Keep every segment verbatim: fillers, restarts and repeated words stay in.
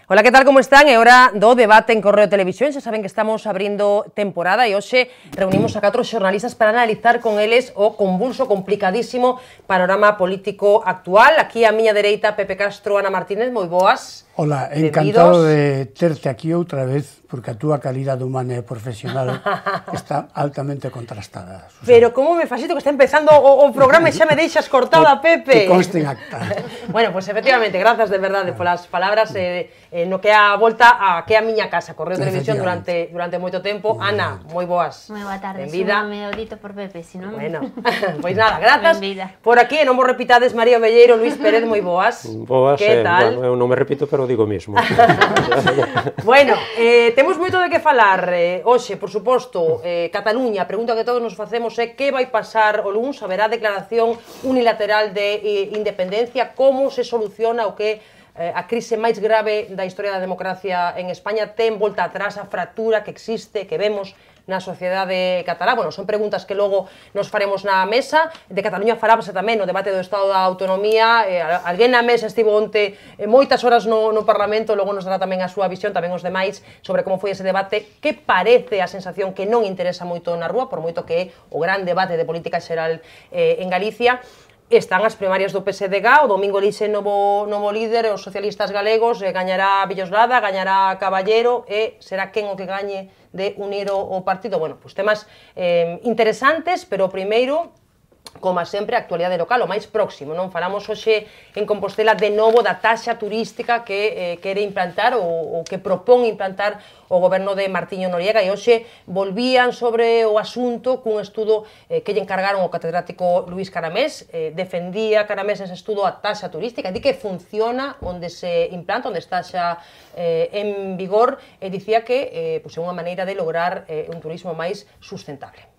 Ola, que tal, como están? É hora do debate en Correo Televisión. Xa saben que estamos abrindo temporada e hoxe reunimos a catro xornalistas para analizar con eles o convulso, complicadísimo panorama político actual. Aquí á miña dereita, Pepe Castro, Ana Martínez, moi boas. Ola, encantado de terte aquí outra vez, porque a túa calidade humana e profesional está altamente contrastada, Susana. Pero como me fascito que está empezando o, o programa e xa me deixas cortada, Pepe. Que conste en acta. Bueno, pues efectivamente, grazas de verdade polas palabras eh, eh, no que a volta a que a miña casa, Correo Televisión, durante durante moito tempo. Ana, moi boas. Moi boa tarde, Benvida. me dito por Pepe, si non... Bueno, pois nada, grazas. Benvida. Por aquí, e non vos repitades, María Velleiro, Luís Pérez, moi boas. Boas, que eh, tal? Bueno, eu non me repito, pero digo mismo. Bueno, eh, temos moito de que falar eh, hoxe, por suposto, eh, Cataluña. A pregunta que todos nos facemos é que vai pasar o luns, haberá declaración unilateral de eh, independencia, como se soluciona o que eh, a crise máis grave da historia da democracia en España ten volta atrás, a fractura que existe, que vemos na sociedade catalá. Bueno, son preguntas que logo nos faremos na mesa. De Cataluña falábase tamén no debate do Estado da Autonomía. Eh, alguén na mesa estivo onte eh, moitas horas no, no Parlamento, logo nos dará tamén a súa visión, tamén os demais, sobre como foi ese debate, que parece a sensación que non interesa moito na rúa, por moito que é o gran debate de política xeral eh, en Galicia. Están as primarias do P S D G, o domingo elixe novo, novo líder, os socialistas galegos, eh, gañará Villoslada, gañará Caballero, e será quen o que gañe de unir o, o partido. Bueno, pues temas eh, interesantes, pero primeiro, como sempre, a actualidade local, o máis próximo, non? Falamos hoxe en Compostela de novo da taxa turística que eh, quere implantar ou, ou que propón implantar o goberno de Martiño Noriega, e hoxe volvían sobre o asunto cun estudo eh, que lle encargaron o catedrático Luís Caramés. Eh, defendía Caramés ese estudo a taxa turística, di que funciona onde se implanta, onde está xa eh, en vigor, e dicía que eh, pues é unha maneira de lograr eh, un turismo máis sustentable.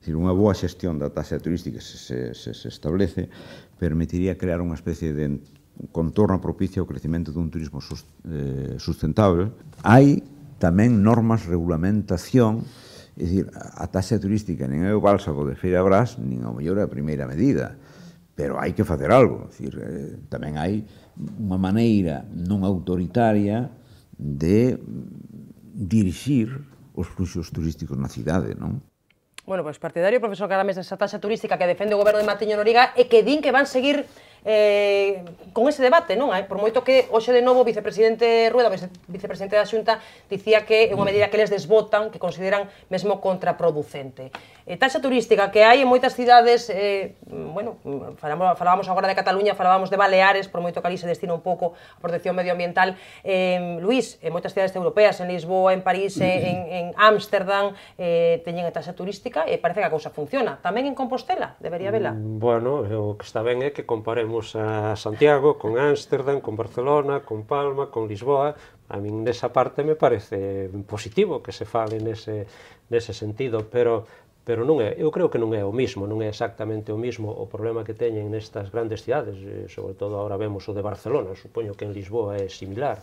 Dicir, unha boa xestión da taxa turística se, se, se establece permitiría crear unha especie de contorno propicio ao crecimento dun turismo sus, eh, sustentable. Hai tamén normas, regulamentación, é dicir, a taxa turística nin é o bálsamo de Feira Brás, nin ao mellor é a primeira medida, pero hai que facer algo. É dicir, eh, tamén hai unha maneira non autoritaria de dirixir os fluxos turísticos na cidade, non? Bueno, pois partidario o profesor Caramés desa taxa turística que defende o goberno de Martiño Noriega e que din que van seguir eh, con ese debate, non? Por moito que hoxe de novo o vicepresidente Rueda, o vicepresidente da Xunta, dicía que é unha medida que eles desbotan, que consideran mesmo contraproducente. Eh, taxa turística que hai en moitas cidades, eh, bueno, falábamos, falábamos agora de Cataluña, falábamos de Baleares, por moito que ali se destina un pouco a protección medioambiental. Eh, Luís, en moitas cidades europeas, en Lisboa, en París, en Ámsterdam, eh, teñen a taxa turística e parece que a cousa funciona. Tamén en Compostela, debería vela? Bueno, o que está ben é que comparemos a Santiago con Ámsterdam, con Barcelona, con Palma, con Lisboa. A min nesa parte me parece positivo que se fale nese, nese sentido, pero pero non é, eu creo que non é o mismo, non é exactamente o mismo o problema que teñen nestas grandes cidades, sobre todo agora vemos o de Barcelona, supoño que en Lisboa é similar.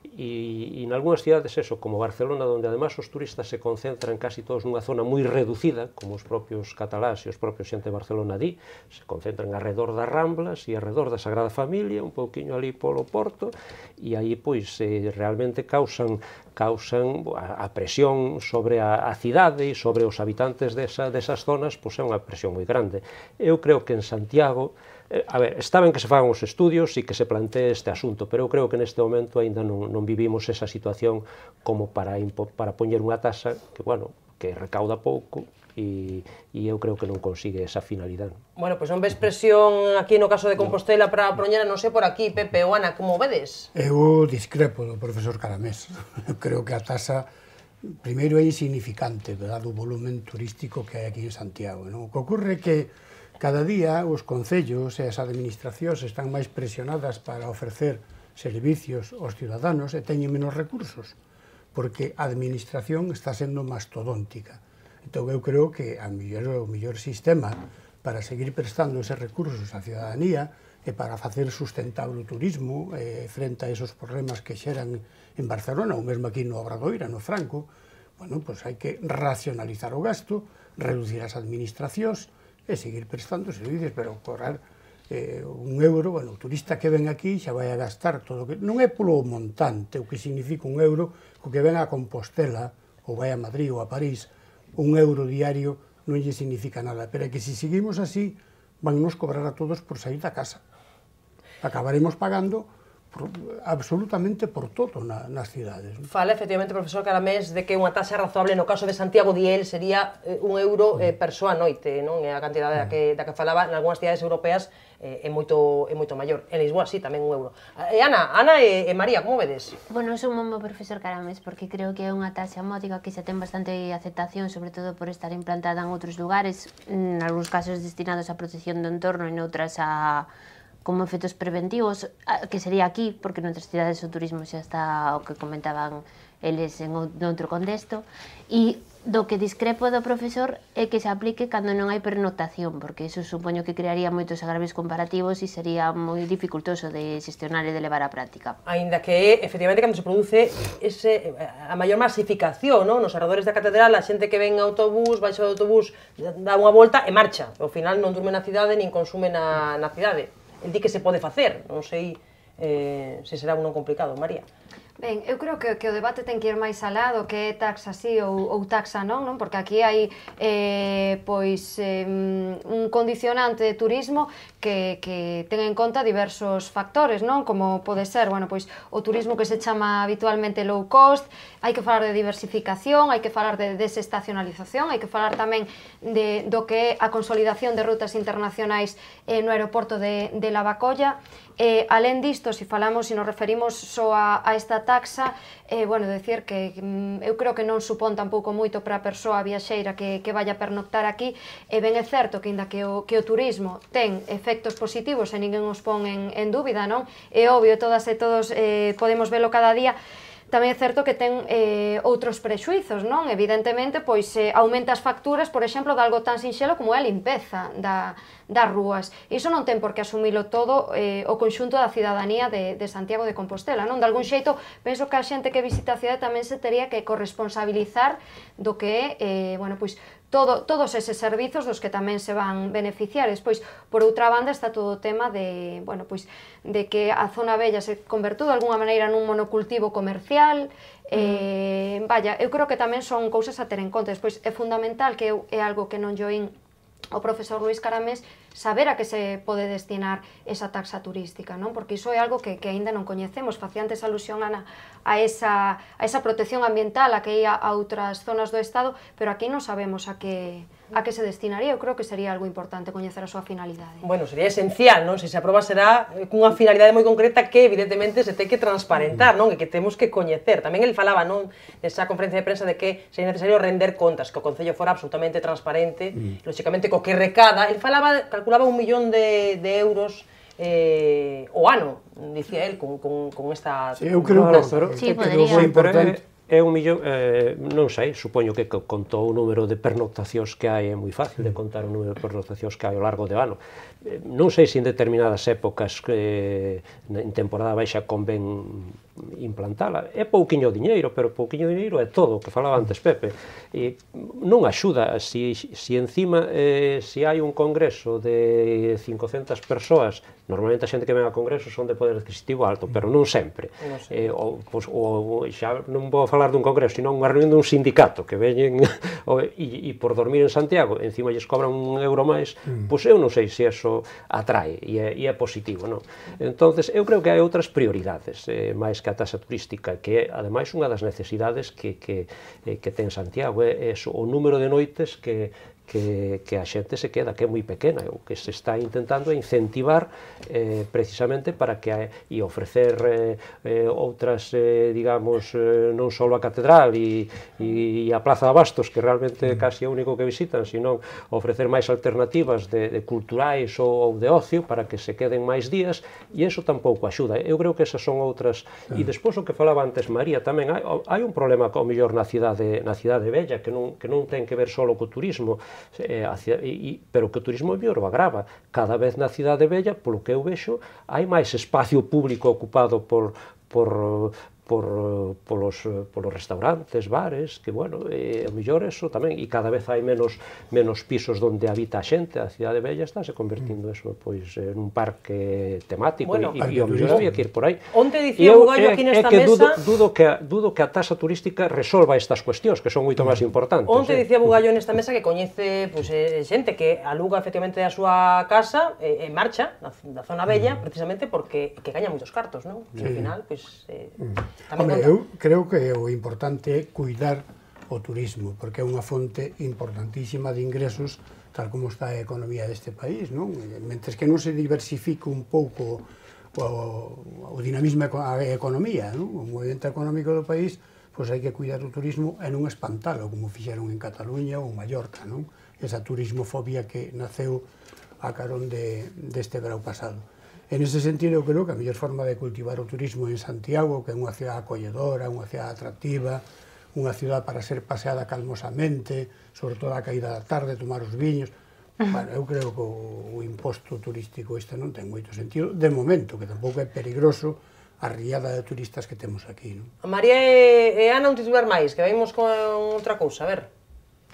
E, e en algunhas cidades, eso, como Barcelona, onde además os turistas se concentran casi todos nunha zona moi reducida, como os propios catalás e os propios xente de Barcelona di, se concentran alrededor das Ramblas e alrededor da Sagrada Familia, un pouquiño ali polo Porto, e aí, pois, eh, realmente causan causan a, a presión sobre a, a cidade e sobre os habitantes desa, desas zonas, pois é unha presión moi grande. Eu creo que en Santiago, a ver, está ben que se fagan os estudios e que se plantee este asunto, pero eu creo que neste momento aínda non, non vivimos esa situación como para, para poñer unha taxa que, bueno, que recauda pouco e, e eu creo que non consigue esa finalidade. Bueno, pois non ves presión aquí no caso de Compostela para poñer, non sei por aquí, Pepe ou Ana, como vedes? Eu discrepo do profesor Caramés. Eu creo que a taxa primeiro é insignificante, dado o volumen turístico que hai aquí en Santiago, non? O que ocorre é que cada día os concellos e as administracións están máis presionadas para ofrecer servicios aos ciudadanos e teñen menos recursos, porque a administración está sendo mastodóntica. Entón eu creo que a mellor, o mellor sistema para seguir prestando eses recursos á ciudadanía e para facer sustentable o turismo eh, frente a esos problemas que xeran en Barcelona, ou mesmo aquí no Obradoiro, no Franco, bueno, pois hai que racionalizar o gasto, reducir as administracións, e seguir prestando servicios, pero cobrar eh, un euro, bueno, o turista que ven aquí xa vai a gastar todo, que non é polo montante, o que significa un euro, o que ven a Compostela, ou vai a Madrid ou a París, un euro diario non lle significa nada, pero é que se seguimos así, van nos cobrar a todos por sair da casa. Acabaremos pagando por, absolutamente por todo na, nas cidades. Fala, efectivamente, profesor Caramés, de que unha taxa razoable no caso de Santiago Diel sería eh, un euro eh, persoa noite, non? É a cantidade da que, da que falaba, en algunhas cidades europeas eh, é, moito, é moito maior. En Lisboa, sí, tamén un euro. E Ana, Ana e, e María, como vedes? Bueno, son mo profesor Caramés, porque creo que é unha taxa módica que xa ten bastante aceptación, sobre todo por estar implantada en outros lugares, en algúns casos destinados a protección do entorno e noutras a como efectos preventivos, que sería aquí, porque noutras cidades o turismo xa está o que comentaban eles en outro contexto, e do que discrepo do profesor é que se aplique cando non hai pernoctación, porque iso supoño que crearía moitos agravios comparativos e sería moi dificultoso de xestionar e de levar á práctica. Ainda que, efectivamente, cando se produce ese, a maior masificación, non? Nos arredores da catedral, a xente que ven autobús, baixa do autobús, dá unha volta e marcha. Ao final non durme na cidade nin consume na, na cidade. El di que se pode facer, non sei eh, se será un non complicado, María. Ben, eu creo que, que o debate ten que ir máis alá do que é taxa sí ou, ou taxa non, non? Porque aquí hai eh, pois eh, un condicionante de turismo que, que ten en conta diversos factores, non? Como pode ser, bueno, pois o turismo que se chama habitualmente low cost, hai que falar de diversificación, hai que falar de desestacionalización, hai que falar tamén de, do que é a consolidación de rutas internacionais eh, no aeroporto de, de Lavacolla. Eh, alén disto, se falamos, se nos referimos só a, a esta taxa, eh, bueno, decir que mm, eu creo que non supón tampouco moito para a persoa viaxeira que, que vaya a pernoctar aquí, e ben é certo que, inda que o, que o turismo ten efectos positivos e ninguén os pon en, en dúbida, non? É obvio, todas e todos eh, podemos velo cada día. Tamén é certo que ten eh, outros prexuizos, non? Evidentemente, pois eh, aumenta as facturas, por exemplo, de algo tan sinxelo como é a limpeza da, das rúas. Iso non ten por que asumilo todo eh, o conxunto da cidadanía de, de Santiago de Compostela, non? De algún xeito, penso que a xente que visita a cidade tamén se tería que corresponsabilizar do que é, eh, bueno, pois, Todo, todos eses servizos dos que tamén se van beneficiar. Despois, por outra banda, está todo o tema de, bueno, pois, de que a zona bella se convertou de alguna maneira nun monocultivo comercial. Eh, vaya, eu creo que tamén son cousas a ter en conta. Despois, é fundamental, que é algo que non joín o profesor Luís Caramés, saber a que se pode destinar esa taxa turística, non? Porque iso é algo que, que aínda non coñecemos. Facía antes alusión a, a, esa, a esa protección ambiental a que ia a outras zonas do Estado, pero aquí non sabemos a que, a que se destinaría. Eu creo que sería algo importante coñecer a súa finalidade. Bueno, sería esencial, non? Se se aproba será cunha finalidade moi concreta que evidentemente se ten que transparentar, non? E que temos que coñecer. Tamén el falaba, non? Nesa conferencia de prensa de que sería necesario render contas, que o Concello fora absolutamente transparente, mm. lógicamente co que recada. El falaba, calculaba un millón de, de euros eh, o ano, dicía el, con, con, con esta... Sí, eu creo que, pero, sí, que quedou moi importante. É un millón, eh, non sei, supoño que contou o número de pernoctacións que hai, é moi fácil de contar o número de pernoctacións que hai ao largo do ano. Eh, non sei se en determinadas épocas, eh, en temporada baixa, convén implantala. É pouquiño diñeiro, pero pouquiño diñeiro é todo, o que falaba antes Pepe. E non axuda, si, si encima, eh, si hai un congreso de cincocentas persoas, normalmente a xente que ven a congreso son de poder adquisitivo alto, pero non sempre. Non sei. Eh, o, pois, o, xa non vou falar dun congreso, sino unha reunión dun sindicato que veñen e, e por dormir en Santiago encima lles cobran un euro máis, mm. pois eu non sei se eso atrae e é, e é positivo, non? Entonces eu creo que hai outras prioridades eh, máis que a taxa turística, que é ademais unha das necesidades que, que, eh, que ten Santiago, é, é o número de noites que Que, que a xente se queda, que é moi pequena. O que se está intentando é incentivar eh, precisamente para que a, e ofrecer eh, eh, outras, eh, digamos, eh, non só a catedral e, e, e a Plaza de Abastos, que realmente é casi o único que visitan, sino ofrecer máis alternativas de, de culturais ou, ou de ocio para que se queden máis días, e iso tampouco axuda. Eu creo que esas son outras. E despois o que falaba antes María, tamén hai, hai un problema ao mellor na cidade, na cidade bella, que non, que non ten que ver só co turismo, Eh, hacia, e, pero que o turismo mellor o agrava. Cada vez na cidade bella, polo que eu vexo, hai máis espacio público ocupado por, por, por, polos, polos restaurantes, bares, que, bueno, e, a mellor eso tamén, e cada vez hai menos, menos pisos onde habita a xente, a cidade bella está se convertindo eso, pois, en un parque temático, bueno, e, e, e o mellor había que ir por aí. Onte dicía Bugallo aquí nesta mesa... Dudo, dudo, que, dudo que a taxa turística resolva estas cuestións, que son moito máis importantes. Onte eh? dicía Bugallo nesta mesa que coñece pois, eh, xente que aluga efectivamente a súa casa e eh, marcha da, da zona bella, precisamente porque que gaña moitos cartos, non? E ao final, pois... Eh, Hombre, eu creo que o importante é cuidar o turismo, porque é unha fonte importantísima de ingresos, tal como está a economía deste país, non? Mentres que non se diversifique un pouco o, o dinamismo da economía, non? O movimento económico do país, pois hai que cuidar o turismo e non espantalo, como fixeron en Cataluña ou Mallorca, non? Esa turismofobia que naceu a carón de, deste verão pasado. En ese sentido, eu creo que a mellor forma de cultivar o turismo en Santiago, que é unha cidade acolledora, unha cidade atractiva, unha cidade para ser paseada calmosamente, sobre todo a caída da tarde, tomar os viños. Bueno, eu creo que o, o imposto turístico este non ten moito sentido, de momento, que tampouco é peligroso a riada de turistas que temos aquí, non? A María e, e Ana un titular máis, que vemos con outra cousa, a ver.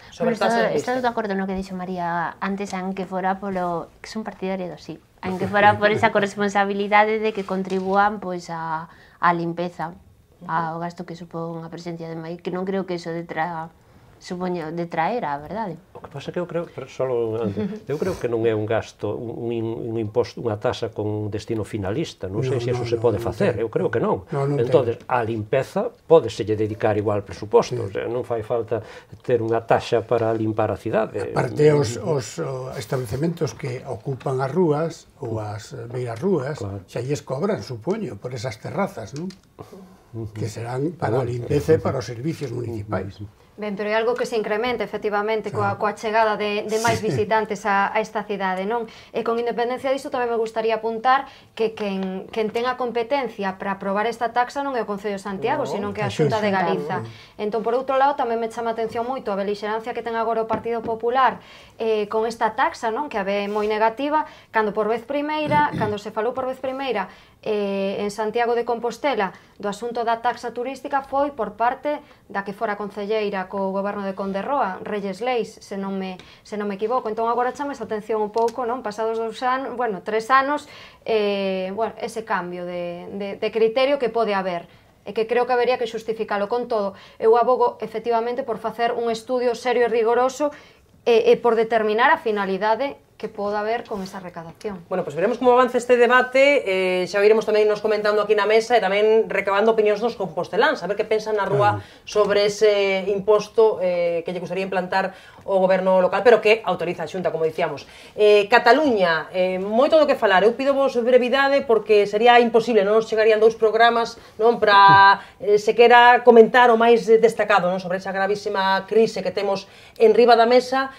Sobre bueno, estou de acordo no que dixo María antes, aunque fora polo... que son partidaria do sí. Aunque fora por esa corresponsabilidade de que contribúan pois a, a limpeza, ao gasto que supón a presencia de maíz, que non creo que eso detra, supoño, detraer a verdade. O que pasa que eu creo, pero solo antes, eu creo que non é un gasto, un, un imposto, unha tasa con destino finalista, non sei no, se eso no, se pode no, facer, no, eu creo que non. No, non entonces, a limpeza pódeselle dedicar igual presuposto, sí. O sea, non fai falta ter unha taxa para limpar a cidade. Aparte, os, os establecementos que ocupan as rúas ou as beiras rúas, claro. Xa lles cobran, supoño, por esas terrazas, non? Uh-huh. Que serán para a limpeza e para os servicios municipais. Uh-huh. Ben, pero é algo que se incrementa, efectivamente, coa, coa chegada de, de máis visitantes a, a esta cidade, non? E con independencia disto tamén me gustaría apuntar que quen, quen ten a competencia para aprobar esta taxa non é o Concello de Santiago, no, sino que é a Xunta de Galiza. Entón, por outro lado, tamén me chama a atención moito a belixerancia que ten agora o Partido Popular eh, con esta taxa, non? Que a ve moi negativa, cando por vez primeira, cando se falou por vez primeira eh, en Santiago de Compostela do asunto da taxa turística foi por parte da que fora concelleira co goberno de Conde Roa, Reyes Leis, se non me, se non me equivoco. Entón agora chama esa atención un pouco, non? Pasados dous anos, bueno, tres anos, eh, bueno, ese cambio de, de, de criterio que pode haber e que creo que habería que xustificalo. Con todo, eu abogo efectivamente por facer un estudio serio e rigoroso e, e por determinar a finalidade que poda haber con esa recadación. Bueno, pois pues veremos como avanza este debate, eh, xa iremos tamén nos comentando aquí na mesa e tamén recabando opinións dos composteláns, a ver que pensan na rúa sobre ese imposto eh, que lle gustaría implantar o goberno local, pero que autoriza a Xunta, como dicíamos. Eh, Cataluña, eh, moito do que falar, eu pido vos brevidade porque sería imposible, non nos chegarían dous programas non para eh, se quera comentar o máis destacado non sobre esa gravísima crise que temos en riba da mesa.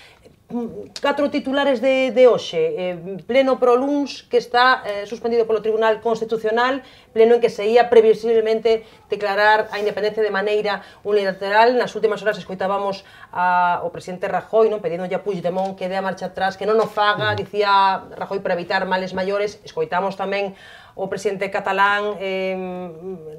Catro titulares de, de hoxe, eh, pleno pro luns que está eh, suspendido polo Tribunal Constitucional, pleno en que se ia previsiblemente declarar a independencia de maneira unilateral. Nas últimas horas escoitábamos a, o presidente Rajoy non pedindo a Puigdemont que dé a marcha atrás, que non o faga, dicía Rajoy, para evitar males maiores. Escoitamos tamén o presidente catalán eh,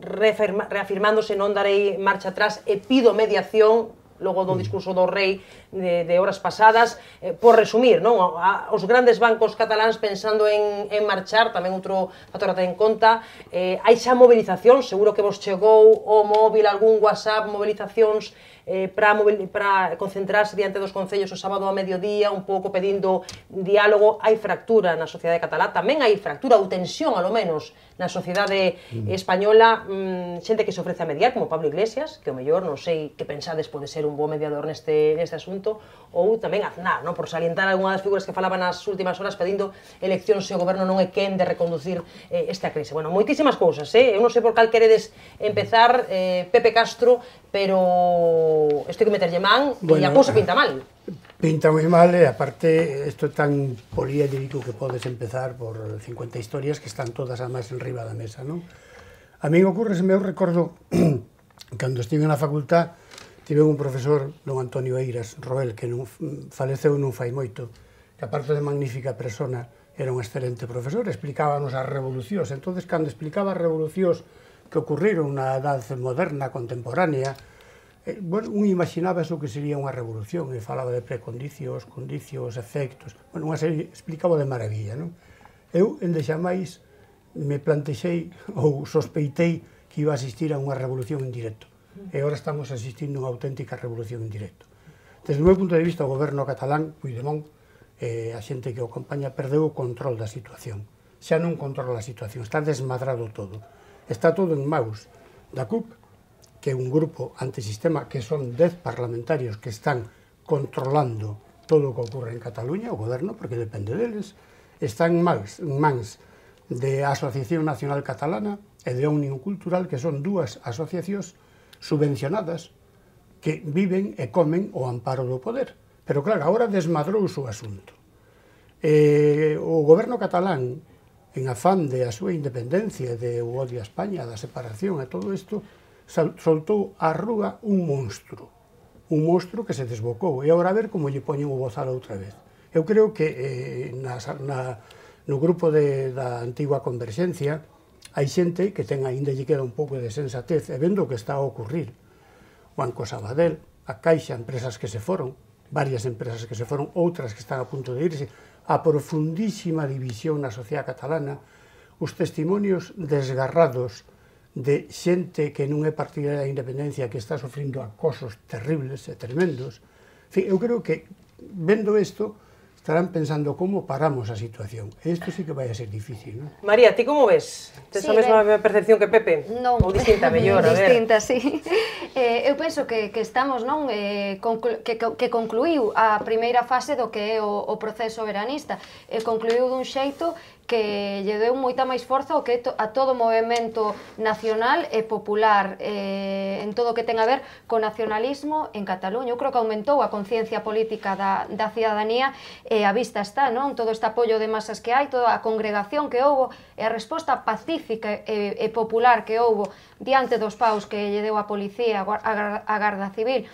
reafirma, reafirmándose non darei marcha atrás e pido mediación logo do discurso do rei de, de horas pasadas, eh, por resumir, non? A, os grandes bancos cataláns pensando en, en marchar, tamén outro factor a ter en conta, eh, hai xa movilizacións, seguro que vos chegou o móvil, algún WhatsApp, movilizacións eh, para concentrarse diante dos concellos o sábado a mediodía, un pouco pedindo diálogo. Hai fractura na sociedade catalá, tamén hai fractura ou tensión, alo menos, na sociedade española, mm, xente que se ofrece a mediar, como Pablo Iglesias, que o mellor, non sei que pensades, pode ser un bo mediador neste, neste asunto, ou tamén Aznar, non? Por salientar algunha das figuras que falaban nas últimas horas pedindo eleccións se o goberno non é quen de reconducir eh, esta crise. Bueno, moitísimas cousas, eh? Eu non sei por cal queredes empezar, eh, Pepe Castro, pero estou que meterlle man, bueno, e a cousa pinta mal. Pinta moi mal, e aparte, isto é tan poliédrico que podes empezar por cincuenta historias que están todas además en riba da mesa, non? A mí ocurre, se me recordo, cando estive na facultad, tive un profesor, don Antonio Eiras Roel, que non, faleceu non fai moito, que aparte de magnífica persona, era un excelente profesor, explicábanos as revolucións. Entonces, cando explicaba as revolucións que ocurriron na edad moderna, contemporánea, eh, bueno, un imaginaba eso que sería unha revolución, e falaba de precondicios, condicios, efectos, bueno, unha serie, explicaba de maravilla, non? Eu, endexamais, me plantexei ou sospeitei que iba a asistir a unha revolución en directo, e agora estamos asistindo a unha auténtica revolución en directo. Desde o meu punto de vista, o goberno catalán, Puigdemont, eh, a xente que o acompaña, perdeu o control da situación. Xa non controla a situación, está desmadrado todo. Está todo en maus da C U P, que é un grupo antisistema, que son dez parlamentarios que están controlando todo o que ocorre en Cataluña, o goberno, porque depende deles. Está en mans, en mans de Asociación Nacional Catalana e de Unión Cultural, que son dúas asociacións subvencionadas que viven e comen o amparo do poder. Pero claro, agora desmadrouse o asunto. Eh, o goberno catalán, en afán de a súa independencia, de o odio a España, da separación e todo isto, soltou á rúa un monstro. Un monstro que se desbocou. E agora a ver como lle poñen o bozal outra vez. Eu creo que eh, na, na, no grupo de, da antigua Converxencia hai xente que ten aínda lle queda un pouco de sensatez e vendo o que está a ocurrir. Banco Sabadell, a Caixa, empresas que se foron, varias empresas que se foron, outras que están a punto de irse, a profundísima división na sociedade catalana, os testimonios desgarrados de xente que non é partidaria da independencia, que está sofrindo acosos terribles e tremendos. En fin, eu creo que, vendo isto, estarán pensando como paramos a situación. E isto sí que vai a ser difícil, non? María, ti como ves? Tes a mesma percepción que Pepe? Non. Ou distinta, mellor, a ver. Distinta, sí. Eh, eu penso que, que estamos, non, eh, conclu que, que concluiu a primeira fase do que é o, o proceso veranista. E concluiu dun xeito que lle deu moita máis forza o que to, a todo o movimento nacional e popular eh, en todo o que ten a ver co nacionalismo en Cataluña. Eu creo que aumentou a conciencia política da, da cidadanía e a vista está, non? Todo este apoio de masas que hai, toda a congregación que houbo e a resposta pacífica e, e popular que houbo diante dos paus que lle deu a policía, a, a Garda Civil,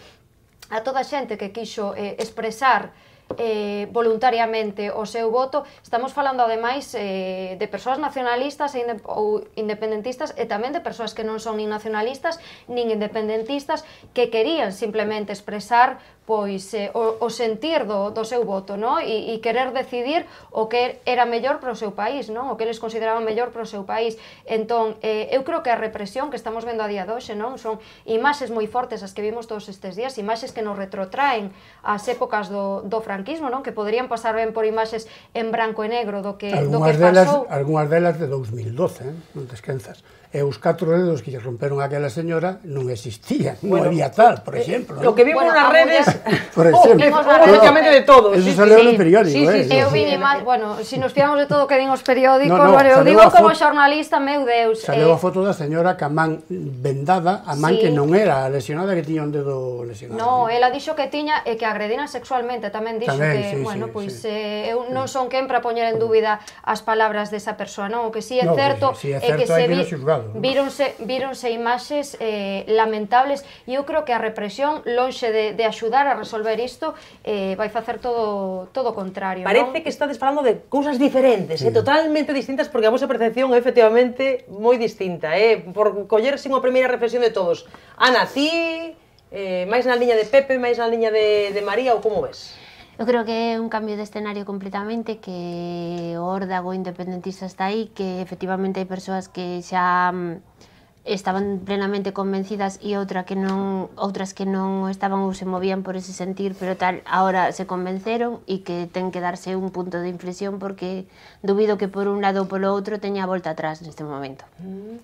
a toda a xente que quixo eh, expresar Eh, voluntariamente o seu voto. Estamos falando ademais eh, de persoas nacionalistas e inde ou independentistas e tamén de persoas que non son nin nacionalistas nin independentistas que querían simplemente expresar pois eh, o, o sentir do, do seu voto, no? E, e querer decidir o que era mellor para o seu país, non? O que eles consideraban mellor para o seu país. Entón, eh, eu creo que a represión que estamos vendo a día de hoxe, non? Son imaxes moi fortes as que vimos todos estes días, imaxes que nos retrotraen ás épocas do, do franquismo, non? Que poderían pasar ben por imaxes en branco e negro do que, do que pasou. Algúnas delas de dous mil doce, eh? Non te esquenzas. E os catro dedos que lle romperon aquela señora non existían, non bueno, había tal, por exemplo. Lo que vimos bueno, nas redes, por exemplo, oh, prácticamente de todo. Eso sí, salió sí, no periódico, sí, eh. Sí, eu vi máis, bueno, se si nos fiamos de todo que din os periódicos, no, no, bueno, eu digo como xornalista, meu Deus. Saleu eh, a foto da señora ca man vendada, a man sí, que non era lesionada, que tiña un dedo lesionado. No, ela dixo que tiña e que agrediran sexualmente, tamén dixo tamén, que, sí, bueno, sí, pois sí. eh, eu non son quen para poñer en dúbida as palabras desa persoa, non? O que si sí é no, certo sí, sí, é, é que se vi, xuzgado, ¿no? víronse víronse imaxes eh, lamentables e eu creo que a represión, lonxe de, de axudar a resolver isto, eh, vai facer todo todo o contrario. Parece non? que estades falando de cousas diferentes, sí. eh, totalmente distintas, porque a vosa percepción é efectivamente moi distinta, eh, por collerse unha primeira reflexión de todos. Ana, ti, eh, máis na liña de Pepe, máis na liña de, de María, ou como ves? Eu creo que é un cambio de escenario completamente, que o órdago independentista está aí, que efectivamente hai persoas que xa estaban plenamente convencidas e outra que non, outras que non estaban ou se movían por ese sentir, pero tal, ahora se convenceron e que ten que darse un punto de inflexión, porque dubido que por un lado ou polo outro teña a volta atrás neste momento. Mm.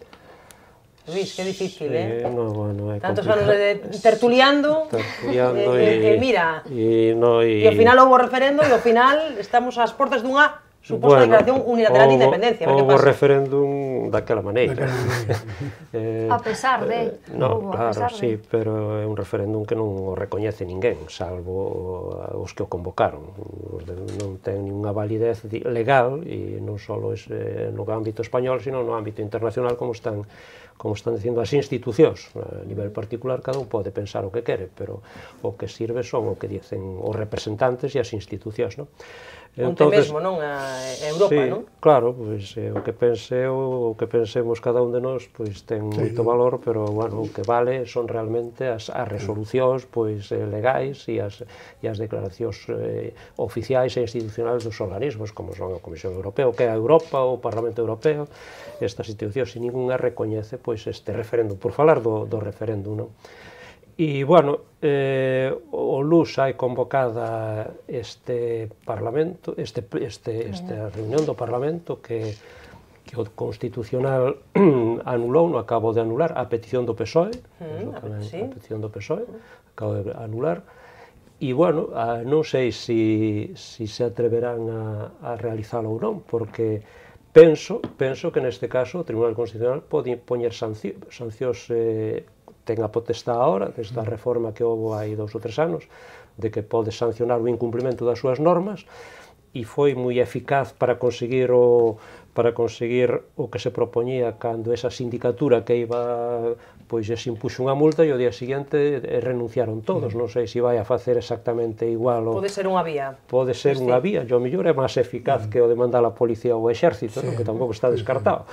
Luis, que difícil, eh? Sí, no, bueno, é tantos anos de tertuliando, tertuliando e, e, e mira, e, no, e, e ao final houve referendo e ao final estamos ás portas dunha suposta bueno, declaración unilateral de independencia. Houve o referéndum daquela maneira. eh, a pesar de... Eh, no, claro, sí, de... pero é un referéndum que non o recoñece ninguén, salvo os que o convocaron. Non ten ninguna validez legal, e non só no ámbito español, sino no ámbito internacional, como están como están dicindo as institucións. A nivel particular, cada un pode pensar o que quere, pero o que sirve son o que dicen os representantes e as institucións, non? Onte mesmo, non? A Europa, sí, non? Claro, pois eh, o que pense o que pensemos cada un de nós pois ten sí, moito valor, pero bueno, o que vale son realmente as, as resolucións pois eh, legais e as, e as declaracións eh, oficiais e institucionais dos organismos, como son a Comisión Europea, o que é a Europa, o Parlamento Europeo, estas institucións, e ningunha recoñece pois este referéndum, por falar do, do referéndum, non? E, bueno, eh, o L U S hai convocada este Parlamento, este, este, esta reunión do Parlamento que, que o Constitucional anulou, no acabo de anular, a petición do P S O E, mm, tamén, sí. a petición do P S O E, acabo de anular, e, bueno, a, non sei se si, si se atreverán a, a realizalo ou non, porque penso, penso que neste caso o Tribunal Constitucional pode poñer sancio, sancións eh, ten a potestade agora, desta reforma que houve hai dous ou tres anos, de que pode sancionar o incumprimento das súas normas, e foi moi eficaz para conseguir o para conseguir o que se propoñía cando esa sindicatura que iba, pois se impuxo unha multa e o día seguinte renunciaron todos. Non sei se vai a facer exactamente igual. Pode ser unha vía. Pode ser unha vía, e o mellor é máis eficaz que o de mandar a policía ou o exército, que tampouco está descartado.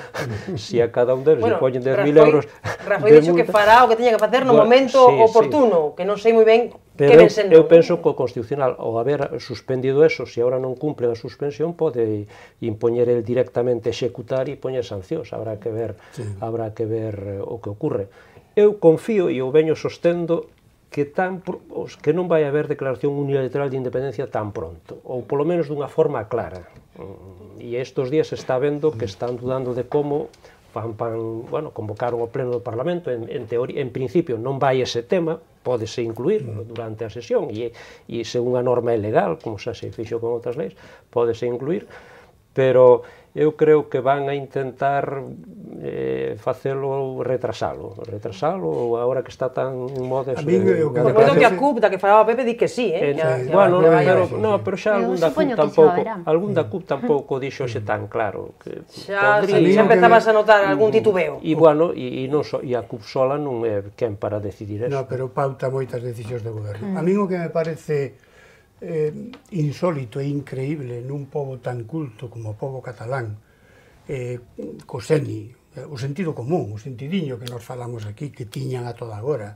Se a cada un deles poñen dez mil euros... Rajoy dixo que fará o que teña que facer no momento oportuno, que non sei moi ben que ven sendo. Eu penso que o Constitucional, ao haber suspendido eso, se agora non cumple a suspensión, pode impoñer el directamente executar e poñer sancións. Habrá que ver, habrá que ver o que ocurre. Eu confío e o veño sostendo que tan que non vai haber declaración unilateral de independencia tan pronto, ou polo menos dunha forma clara. E estes días se está vendo que están dudando de como van, van, bueno, convocaron o pleno do Parlamento, en, en, teoría, en principio non vai ese tema, pódese incluir durante a sesión, e, e según a norma é legal, como xa se fixo con outras leis, pódese incluir, pero eu creo que van a intentar eh, facelo, retrasalo, retrasalo, agora que está tan en moda... A mí, eh, por moito que a C U P, da que falaba Pepe, di que sí, eh? eh ya, ya, bueno, ya, ya, pero, no, pero xa algún da C U P tampouco, algún da C U P tampouco dixo xe tan claro. Que xa, podría, xa empezabas a notar algún titubeo. E, bueno, e, e, non so, e a C U P sola non é quen para decidir eso. No, pero pauta moitas decisións de goberno. Mm. A mí o que me parece eh, insólito e increíble nun pobo tan culto como o pobo catalán, eh, co seni, o sentido común, o sentidiño que nos falamos aquí, que tiñan a toda agora,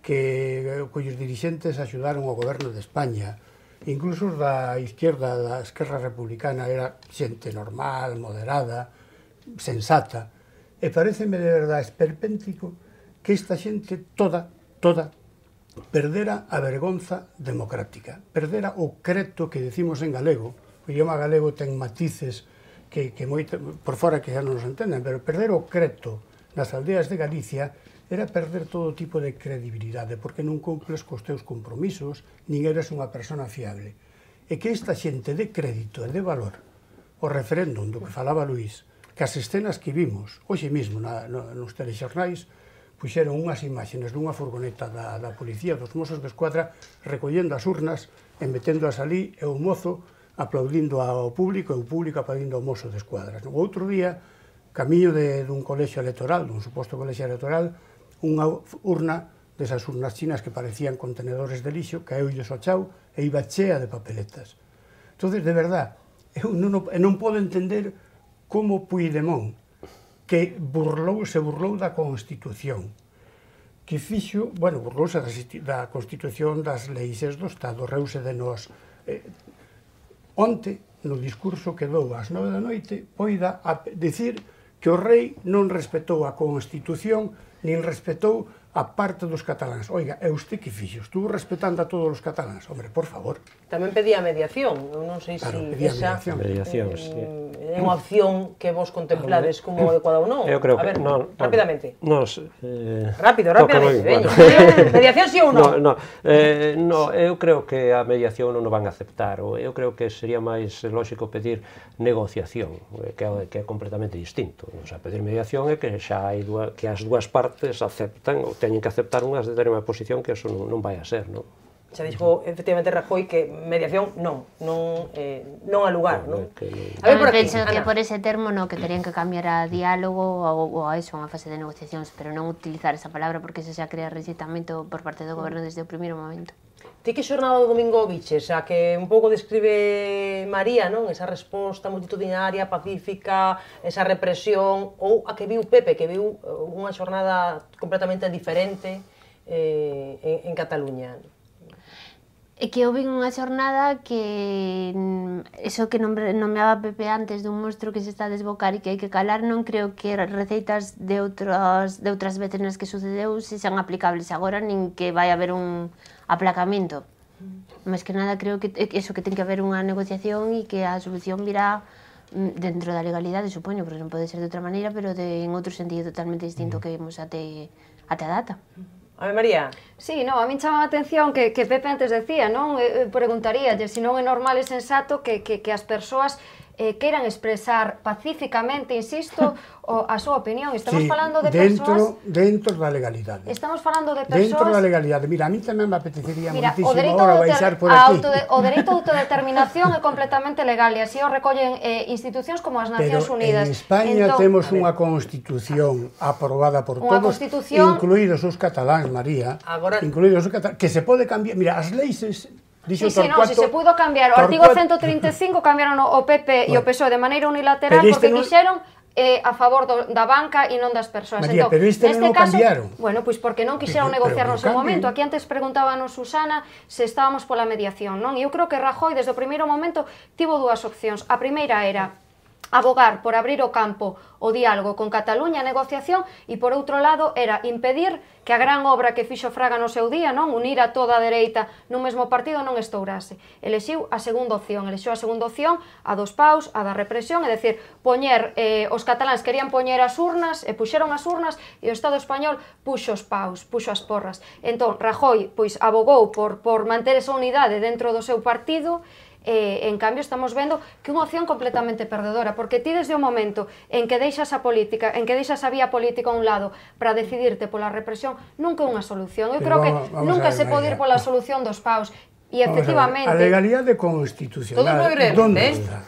que cuyos dirixentes axudaron ao goberno de España, incluso da izquierda, da esquerra republicana, era xente normal, moderada, sensata, e pareceme de verdade esperpéntico que esta xente toda, toda, perdera a vergonza democrática, perdera o creto que decimos en galego. O idioma galego ten matices que, que moito, por fora que xa non nos entenden, pero perder o creto nas aldeas de Galicia era perder todo tipo de credibilidade, porque non cumples cos teus compromisos, nin eres unha persona fiable. E que esta xente de crédito e de valor, o referéndum do que falaba Luís, que as escenas que vimos, hoxe mesmo na, no, nos telexornais, puxeron unhas imaxes dunha furgoneta da, da policía, dos mozos de escuadra, recollendo as urnas e meténdoas ali, e o mozo aplaudindo ao público e o público aplaudindo ao mozo de escuadras. O outro día, camiño de, dun colexio electoral, dun suposto colexio electoral, unha urna desas urnas chinas que parecían contenedores de lixo, caeulle ao chao e iba chea de papeletas. Entón, de verdad, eu non, non podo entender como Puigdemont, que burlou, se burlou da Constitución, que fixo, bueno, burlouse da Constitución, das leis do Estado, reuse de nós. Eh, onte, no discurso que dou ás nove da noite, poida a dicir que o rei non respetou a Constitución, nin respetou a parte dos cataláns. Oiga, e usted que fixo? Estuvo respetando a todos os cataláns? Hombre, por favor. Tamén pedía mediación. Eu non sei se claro, esa mediación, eh, sí. é unha opción que vos contemplades como adecuada ou non. Eu creo a ver, que non, rapidamente. Nos, eh, Rápido, rapidamente. Veño. Mediación sí ou non? No, no, eh, no, eu creo que a mediación non o van a aceptar. Eu creo que sería máis lógico pedir negociación, que é, que é completamente distinto. O sea, pedir mediación é que xa hai dúas, que as dúas partes aceptan ou teñen que aceptar unha determinada posición, que eso non, non vai a ser, non? Xa dixo, efectivamente, Rajoy que mediación non, non, eh, non a lugar, non? Que non... A ver, por aquí, penso que por ese termo no, que terían que cambiar a diálogo ou, ou a eso, unha fase de negociacións, pero non utilizar esa palabra porque se xa crea rexeitamento por parte do goberno desde o primeiro momento. Ti que xornada do domingo viches, a que un pouco describe María, non? Esa resposta multitudinaria, pacífica, esa represión, ou a que viu Pepe, que viu unha xornada completamente diferente eh, en, en Cataluña. É que eu vin unha xornada que eso que nomeaba Pepe antes dun monstro que se está a desbocar e que hai que calar, non creo que receitas de outras, de outras veces nas que sucedeu se sean aplicables agora, nin que vai haber un aplacamento. Mas que nada, creo que eso, que ten que haber unha negociación e que a solución virá dentro da legalidade, supoño, porque non pode ser de outra maneira, pero de, en outro sentido totalmente distinto que vimos até, até a data. A ver, María. Sí, no, a min chama a atención que, que Pepe antes decía, non? Eh, preguntaríalle se non é normal e sensato que, que, que as persoas eh, queiran expresar pacíficamente, insisto, o, a súa opinión. Estamos sí, falando de dentro, persoas... Dentro da legalidade. Estamos falando de persoas... Dentro da legalidade. Mira, a mí tamén me apetecería Mira, moitísimo o ahora baixar por aquí. Autode, o dereito a autodeterminación é completamente legal e así o recollen eh, institucións como as Nacións Pero Unidas. en España entón, temos unha constitución aprobada por Unha todos, constitución... incluídos os cataláns, María, Agora... incluídos os cataláns, que se pode cambiar. Mira, as leis... Sí, sí, no, si se pudo cambiar. O artigo ciento trinta e cinco cambiaron o P P e o P S O E de maneira unilateral porque quixeron eh, a favor do, da banca e non das persoas. María, entón, pero este non o cambiaron. Bueno, pois porque non quixeron Pero, negociar pero no seu cambien. momento. Aquí antes preguntábanos Susana se estábamos pola mediación, non? E eu creo que Rajoy, desde o primeiro momento, tivo dúas opcións. A primeira era abogar por abrir o campo o diálogo con Cataluña, a negociación, e por outro lado era impedir que a gran obra que fixo Fraga no seu día, non, unir a toda a dereita nun mesmo partido, non estourase. Elexiu a segunda opción, elexiu a segunda opción, a dos paus, a da represión, é dicir, poñer, eh, os cataláns querían poñer as urnas, e puxeron as urnas, e o Estado español puxo os paus, puxo as porras. Entón, Rajoy, pois, abogou por, por manter esa unidade dentro do seu partido. Eh, en cambio estamos vendo que unha opción completamente perdedora, porque ti desde o momento en que deixas a política, en que deixas a vía política a un lado para decidirte pola represión, nunca é unha solución. Eu creo que nunca se pode ir pola solución dos paus. E efectivamente... A legalidade constitucional, onde está?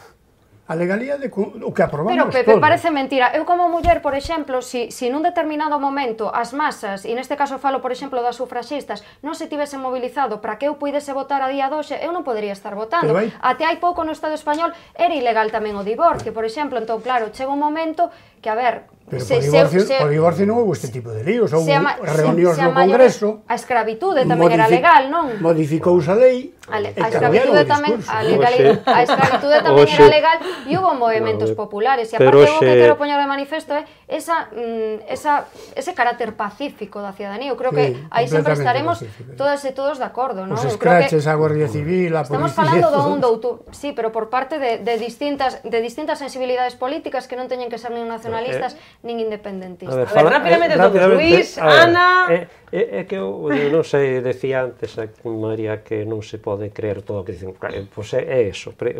A legalidade, o que aprobamos Pero, Pepe, todos. parece mentira. Eu como muller, por exemplo, si, si nun determinado momento as masas, e neste caso falo, por exemplo, das sufraxistas, non se tivesen mobilizado para que eu puidese votar a día doxe, eu non podería estar votando. Hai... Até hai pouco no Estado español era ilegal tamén o divorcio, por exemplo. Entón, claro, chega un momento que, a ver... Pero se, por, divorcio, se, por divorcio non houve este tipo de líos, houve reunións no Congreso. A escravitude tamén era legal, non? Modificouse a lei. A, le, a escravitude tamén, a, legal, a escravitude tamén era legal e hubo movimentos populares. E aparte, o que quero poñer de manifesto é esa, mm, esa, ese carácter pacífico da ciudadanía. Eu creo que sí, aí sempre estaremos todas e todos de acordo, non? Os escraches, a Guardia Civil, a policía... Estamos falando do un doutor, sí, pero por parte de, de, distintas, de distintas sensibilidades políticas que non teñen que ser nin nacionalistas nin independentistas. A ver, fala, rápidamente, eh, rápidamente Luis, Ana... É eh, eh, que eu non sei, decía antes a María que non se pode creer todo o que dicen. Pois é, é eso. Pre,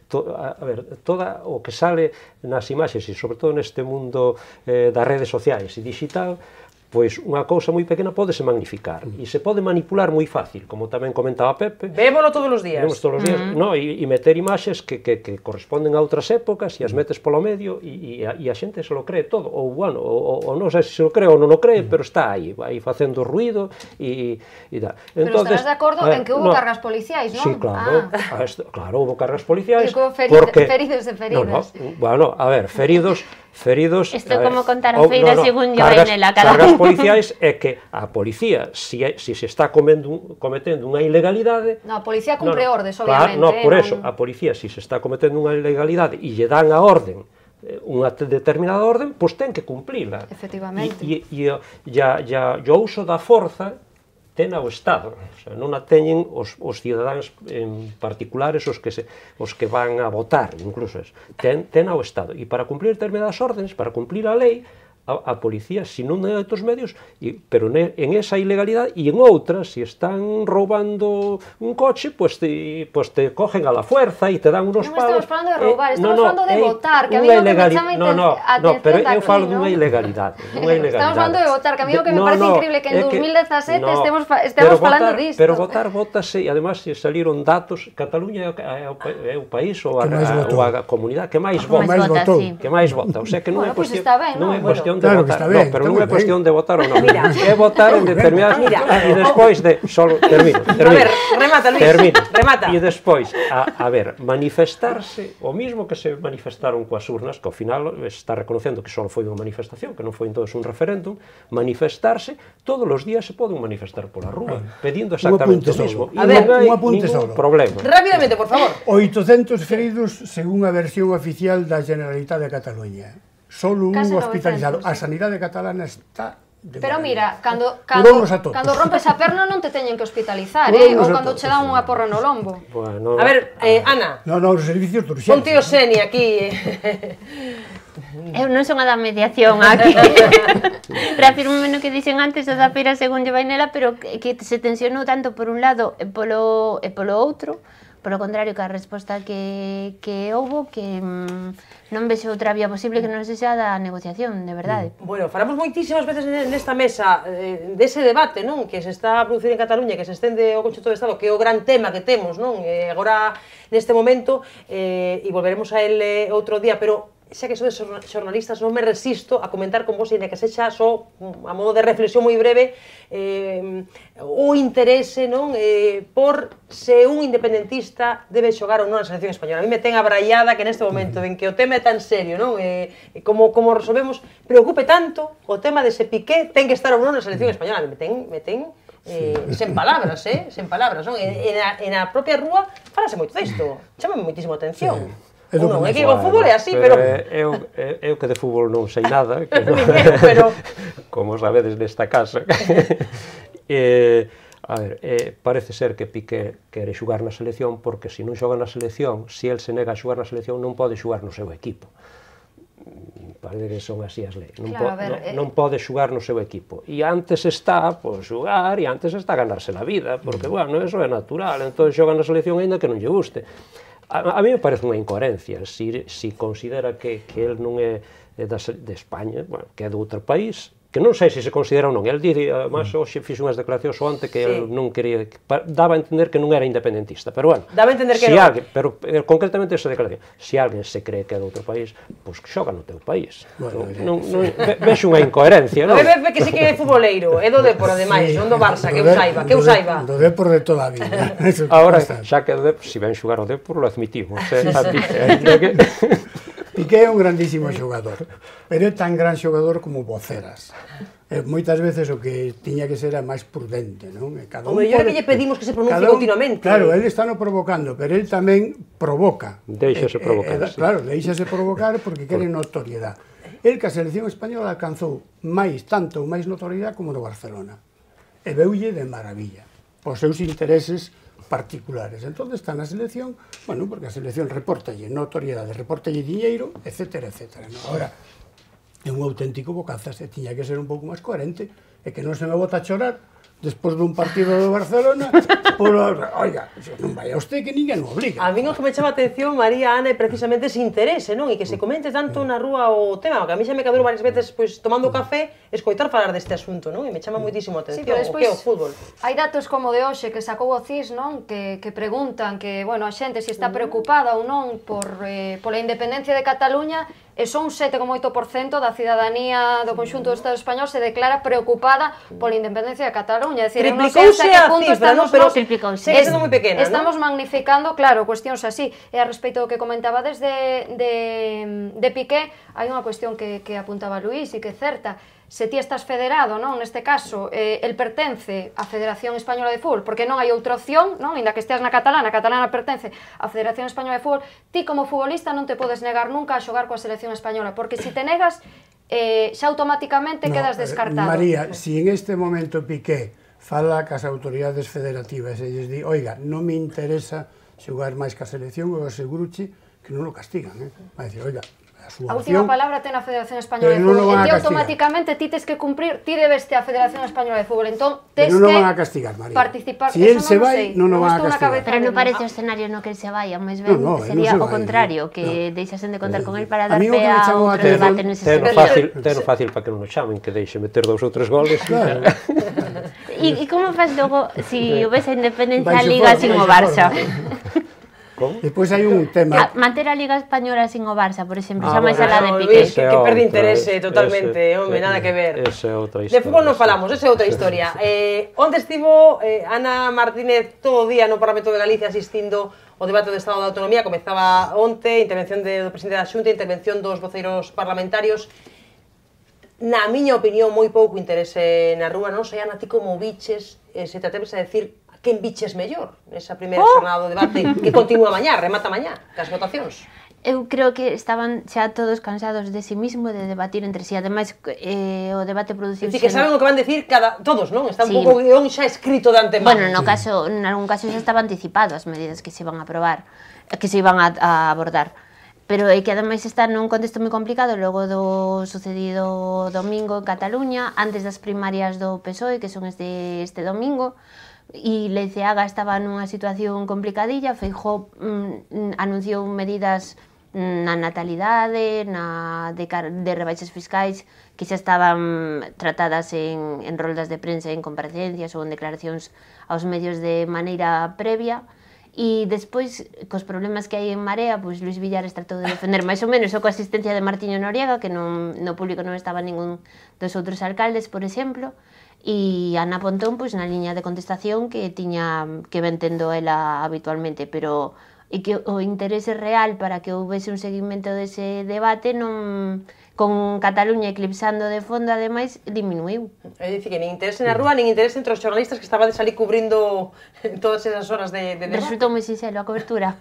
to, a, a ver, toda o que sale nas imaxes e sobre todo neste mundo eh, das redes sociais e digital, pois unha cousa moi pequena pódese magnificar e se pode manipular moi fácil, como tamén comentaba Pepe. Vémolo todos os días. Vemos todos os días, uh -huh. no, e, e meter imaxes que, que, que corresponden a outras épocas e as metes polo medio e, e, a, e a xente se lo cree todo, ou bueno, ou, ou non sei se se lo cree ou non o cree, pero está aí, aí facendo ruido e, e da. Pero entonces, estarás de acordo ver, en que hubo no, cargas policiais, non? Sí, claro, ah. esto, claro, hubo cargas policiais. Feri porque... feridos e feridas. No, no, bueno, a ver, feridos... feridos... Isto é como contar a feira no, no, según yo en la cara. Cargas policiais é que a policía, si, si se está comendo, cometendo unha ilegalidade... No, a policía cumpre no, ordes, obviamente. Claro, no, por eh, eso, non... a policía, si se está cometendo unha ilegalidade e lle dan a orden, unha determinada orden, pois ten que cumplila. Efectivamente. E, e, e ya, ya, o uso da forza ten ao Estado, o sea, non a teñen os, os cidadáns en particulares, os que, se, os que van a votar, incluso es, ten, ten ao Estado. E para cumplir determinadas órdenes, para cumplir a lei, a, a policía, si non hai outros medios, e, pero ne, en esa ilegalidade, e en outras, si están roubando un coche, pues te, pues te cogen a la fuerza e te dan unos non pagos. Non estamos falando de roubar, eh, estamos no, no, falando de eh, votar, que a mí o que me chama no, no, atención no, pero eu falo aquí, dunha ¿no? ilegalidade, dunha ilegalidade. Estamos falando de votar, que a mí o que me no, parece no, increíble que en dos mil dezasete no, estemos, estemos falando votar, disto. Pero votar, votase, e además se saliron datos, Cataluña é o, é o país ou a, a, ou a comunidade que máis vota, vota, sí. que máis vota, o sea que non bueno, é cuestión, pues ben, non é ¿no? cuestión cuestión de Claro que votar. está ben, No, pero está non moi é cuestión ben. de votar ou non. Mira. É votar en determinadas... Mira. E despois de... Solo, termino, termino. A ver, remata, Luis. Termino. Remata. E despois, a, a ver, manifestarse, o mismo que se manifestaron coas urnas, que ao final está reconocendo que só foi unha manifestación, que non foi entonces un referéndum, manifestarse, todos os días se poden manifestar pola rúa, pedindo exactamente apunte o mismo. solo. E A ver, non hai un apunte ningún solo. problema. Rápidamente, por favor. oitocentos feridos según a versión oficial da Generalitat de Cataluña. Solo un Case hospitalizado. novecentos, A sanidade catalana está de Pero maravilla. mira, cando, cando, Curounos a todos. cando rompes a perna non te teñen que hospitalizar, eh? Curounos Ou a cando todos. che dan unha porra no lombo. Bueno, A ver, eh, Ana, No, no, os servicios de urxencia. ponte o Seni aquí. Eu non son a da mediación aquí. Reafirmo no que dixen antes, o da feira según lle vai nela, pero que, que se tensionou tanto por un lado e polo, e polo outro, polo contrario que a resposta que, que houbo, que mm, non vexo outra vía posible que non sexa da negociación, de verdade. Bueno, falamos moitísimas veces nesta mesa eh, dese debate, non, que se está a producir en Cataluña, que se estende ao Conxunto do Estado, que é o gran tema que temos, non, eh, agora neste momento, eh, e volveremos a ele outro día, pero xa que sodes xornalistas, non me resisto a comentar con vos, e que sexa só a modo de reflexión moi breve, eh, o interese, non, eh, por se un independentista debe xogar ou non na selección española. A mí me ten abraiada que neste momento en que o tema é tan serio, non, eh, como, como resolvemos, preocupe tanto o tema de se Piqué ten que estar ou non na selección española. Me ten, me ten eh, sen palabras, eh, sen palabras, non? E, e, na, e na propia rúa falase moito disto, chamame moitísimo atención. Sí. É do Non, é que comezo. o fútbol é así, pero... Eu, eu que de fútbol non sei nada, que non, pero... como sabedes nesta casa. eh, a ver, eh, parece ser que Piqué quere xugar na selección, porque se non xoga na selección, se el se nega a xugar na selección, non pode xugar no seu equipo. Parece que son así as leis. Non, Claro, po, a ver, non, eh... non pode xugar no seu equipo. E antes está por xugar, e antes está a ganarse la vida, porque, bueno, eso é natural. Entón xoga na selección aínda que non lle guste. A, a mí me parece unha incoherencia, si, si considera que, que el non é de, de España, bueno, que é de outro país, que non sei se se considera ou non. El dice, además, hoxe fixe unhas declaracións o ante que sí. El non quería, daba a entender que non era independentista, pero bueno, daba a entender que si non. Alguén, pero eh, concretamente esa declaración, se si alguén se cree que é de outro país, pois pues, xoga no teu país. Bueno, non, non, non, ve, vexo unha incoherencia, non? Ve, ve que sí que é futboleiro, é do Depor, ademais, non do Barça, que eu saiba, que eu saiba. Do Depor de toda a vida. Agora, xa que se si ven xogar o Depor, lo admitimos, eh, a Piqué, que... Piqué é un grandísimo xogador, pero é tan gran xogador como voceras. E moitas veces o que tiña que ser é máis prudente, non? E cada O mellor é que lle pedimos que se pronuncie un, continuamente. Claro, ele está no provocando, pero ele tamén provoca. Deixase provocar, e, e, sí. Claro, deixase provocar porque quere notoriedade. El que a selección española alcanzou máis, tanto ou máis notoriedade como no Barcelona. E veulle de maravilla, pos seus intereses particulares. Entón está na selección, bueno, porque a selección reportalle notoriedade, reportalle diñeiro, etcétera, etcétera. No? Ahora, é un auténtico bocazas, e tiña que ser un pouco máis coherente, e que non se me bota a chorar despois dun partido do Barcelona, por, oiga, non vai a usted que ninguén o obliga. A min o que me chama a atención, María, Ana, é precisamente ese interese, non? E que se comente tanto na rúa o tema, que a mí xa me cadrou varias veces, pois, tomando café, escoitar falar deste asunto, non? E me chama moitísimo a atención, Sí, o que é o fútbol. Hai datos como de hoxe que sacou o C I S, non? Que, que preguntan que, bueno, a xente se está preocupada ou non por, eh, pola independencia de Cataluña, e son un sete coma oito por cento da cidadanía do conxunto do Estado español se declara preocupada pola independencia de Cataluña. É dicir, non sei hasta que punto cifra, estamos, no, pero nos, segue sendo moi pequena, estamos ¿no? magnificando, claro, cuestións así. E a respecto do que comentaba desde de, de Piqué, hai unha cuestión que, que apuntaba Luís e que é certa. Se ti estás federado, non, neste caso, eh, el pertence á Federación Española de Fútbol, porque non hai outra opción, non, inda que esteas na catalana, a catalana pertence á Federación Española de Fútbol, ti como futbolista non te podes negar nunca a xogar coa selección española, porque se te negas, eh, xa automáticamente No, quedas descartado. María, si en este momento Piqué fala cas autoridades federativas e lles di, oiga, non me interesa xogar máis ca selección, eu aseguruche que non o castigan, eh? Vai dicir, oiga, a súa A última opción... palabra ten a Federación Española de Pero non Fútbol, o van e a ti castigar. automáticamente ti tes que cumprir, ti debes te a Federación Española de Fútbol, entón tes Pero non que van a castigar, María. participar. Si Eso él se non o vai, sei, non o van a estou na castigar. cabeza Pero non dele. parece o escenario no que el se vai, máis ben No, no, sería non se o vai, contrario, que no. deixasen de contar con el para A dar mí o pé que me a chamou a outro atención- debate nese Teno sentido. fácil, teno fácil para que non o chamen, que deixe meter dous ou tres goles. Claro. E, e como faz logo si houvese independencia a Vaise Liga fora, sin o vaise Barça? fora. Depois hai un tema... Manter a Liga Española sin o Barça, por exemplo, Ah, xa máis bueno, alá de No, Piqué. Luis, que, que perde interese totalmente, ese, home, nada que ver. Esa é outra De historia. fútbol non sí. falamos, esa é outra historia. Eh, onde estivo eh, Ana Martínez todo o día no Parlamento de Galicia asistindo ao debate do Estado da Autonomía, comezaba onte, intervención de, do presidente da Xunta, intervención dos voceiros parlamentarios. Na miña opinión, moi pouco interese na rúa, non sei, Ana, ti como biches, eh, se te atreves a decir quen biches mellor nesa primeira Oh! xornada do debate que continúa mañá, remata mañá, cas votacións. Eu creo que estaban xa todos cansados de si mismo de debatir entre si. Ademais, eh, o debate É produciuse... dicir, que saben o que van decir cada, todos, non? Está un Sí. pouco o guión xa escrito de antemano. Bueno, no caso, en algún caso xa estaba anticipado as medidas que se iban a aprobar, que se iban a, a abordar. Pero é que ademais está nun contexto moi complicado logo do sucedido domingo en Cataluña, antes das primarias do P S O E, que son este, este domingo, e Leiceaga estaba nunha situación complicadilla. Feijóo mm, anunciou medidas na natalidade, na de, de rebaixas fiscais que xa estaban tratadas en, en roldas de prensa, en comparecencias ou en declaracións aos medios de maneira previa. E despois, cos problemas que hai en Marea, pois Luis Villares tratou de defender máis ou menos, o coa asistencia de Martiño Noriega, que non, no público non estaba ningún dos outros alcaldes, por exemplo, e Ana Pontón, pois na liña de contestación que tiña, que ven tendo ela habitualmente, pero e que o interese real para que houvese un seguimento dese debate non, con Cataluña eclipsando de fondo, ademais, diminuiu. É dicir, que nin interese na rúa, nin interese entre os xornalistas que estaban de salir cubrindo todas esas horas de, de debate. Resultou moi sinxelo a cobertura.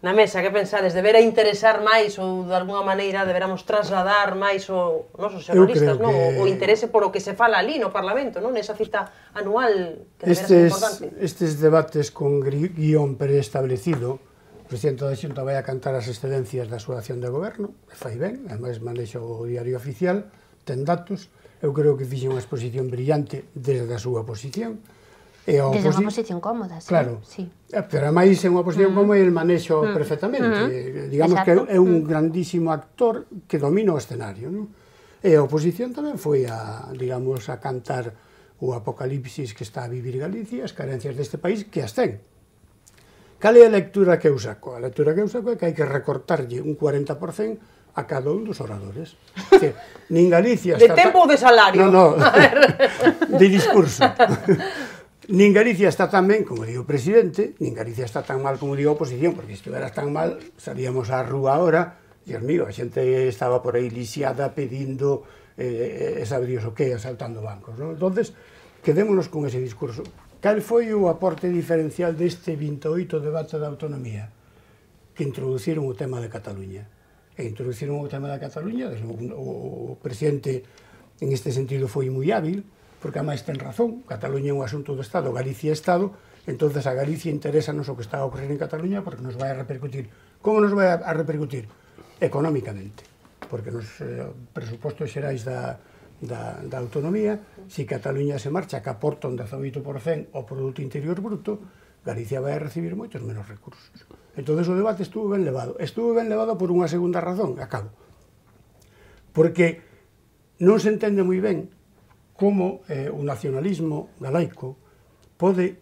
Na mesa, que pensades? Debera interesar máis ou de alguna maneira deberamos trasladar máis o nosos xornalistas, creo non? que- O, o interese polo que se fala ali no Parlamento, non? Nesa cita anual que debera ser Estes, importante. estes debates con gri- guión preestablecido, o presidente da Xunta vai a cantar as excedencias da súa acción de goberno, e fai ben, ademais manexa o diario oficial, ten datos, eu creo que fixe unha exposición brillante desde a súa posición, e a Desde unha oposi- posición cómoda, sí. Claro, Sí. Eh, pero ademais é unha posición como el manexo Mm. perfectamente. Mm. Digamos Exacto. que é un grandísimo actor que domina o escenario, non? E a oposición tamén foi a, digamos, a cantar o apocalipsis que está a vivir Galicia, as carencias deste país, que as ten. Cal é a lectura que eu saco? A lectura que eu saco é que hai que recortarlle un cuarenta por cento a cada un dos oradores. Que nin Galicia De está tempo ou de salario? No, no, de discurso. Nin Galicia está tan ben como digo o presidente, nin Galicia está tan mal como digo a oposición, porque se estivera tan mal, salíamos á rúa ahora, Dios mío, a xente estaba por aí lisiada pedindo, eh, eh, sabe Dios o que, asaltando bancos, non? Entonces, quedémonos con ese discurso. Cal foi o aporte diferencial deste vinte e oito debate da autonomía? Que introduciron o tema de Cataluña. E introduciron o tema da Cataluña, desde o, o presidente en este sentido foi moi hábil, porque a máis ten razón, Cataluña é un asunto do Estado, Galicia é Estado, entonces a Galicia interesa-nos o que está a ocorrer en Cataluña porque nos vai a repercutir. Como nos vai a repercutir? Económicamente, porque nos eh, presupostos xerais da, da, da autonomía, se Cataluña se marcha que aporta un dezaoito por cento ao Produto Interior Bruto, Galicia vai a recibir moitos menos recursos. Entonces o debate estuvo ben levado. Estuvo ben levado por unha segunda razón, acabo. Porque non se entende moi ben como eh, o nacionalismo galaico pode